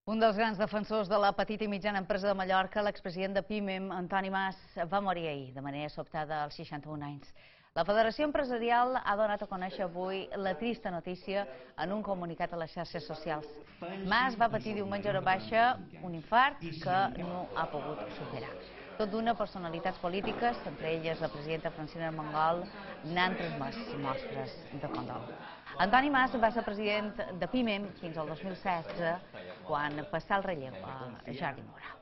Un dels grans defensors de la petita i mitjana empresa de Mallorca, l'expresident de PIMEM, Antoni Mas, va morir ahir, de manera sobtada als 61 anys. La Federació Empresarial ha donat a conèixer avui la trista notícia en un comunicat a les xarxes socials. Mas va patir diumenge hora baixa un infart que no ha pogut superar. Tot d'una, personalitats polítiques, entre elles la presidenta Francina Armengol, n'han transmès mostres de condol. Antoni Mas va ser president de PIMEM fins al 2016, quan passà el relleu a Jordi Mora.